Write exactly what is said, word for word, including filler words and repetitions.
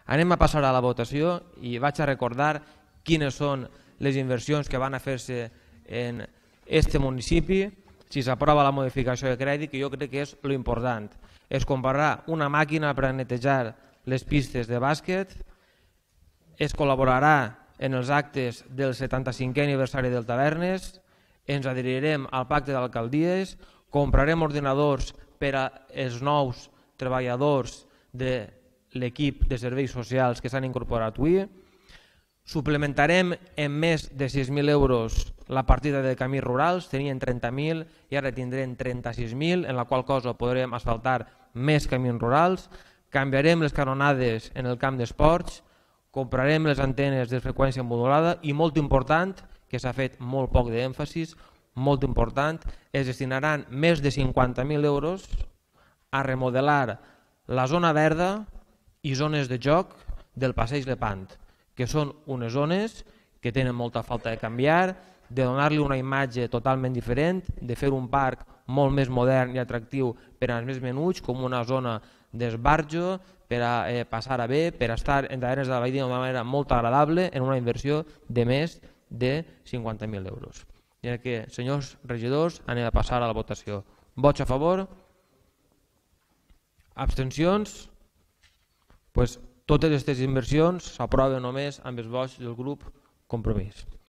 Anem a passar a la votació i vaig a recordar quines són les inversions que van a fer-se en aquest municipi si s'aprova la modificació de crèdit, que jo crec que és l'important. Es comprarà una màquina per a netejar les pistes de bàsquet, es col·laborarà en els actes del setanta-cinquè aniversari del Tavernes, ens adherirem al pacte d'alcaldies, comprarem ordinadors per als nous treballadors de l'equip de serveis socials que s'han incorporat avui, suplementarem en més de sis mil euros la partida de camins rurals, tenien trenta mil i ara tindrem trenta-sis mil, en la qual cosa podrem asfaltar més camins rurals, canviarem les canonades en el camp d'esports, comprarem les antenes de freqüència modulada i, molt important, que s'ha fet molt poc d'èmfasis, molt important, es destinaran més de cinquanta mil euros a remodelar la zona verda i zones de joc del Passeig Lepant, que són unes zones que tenen molta falta de canviar, de donar-li una imatge totalment diferent, de fer un parc molt més modern i atractiu per als més menuts, com una zona d'esbarjo, per a eh, passar a bé, per a estar en Tavernes de la Valldigna d'una manera molt agradable en una inversió de més de cinquanta mil euros. I que, senyors regidors, anem a passar a la votació. Vots a favor? Abstencions? Pues totes aquestes inversions s'aproven només amb els vots del grup Compromís.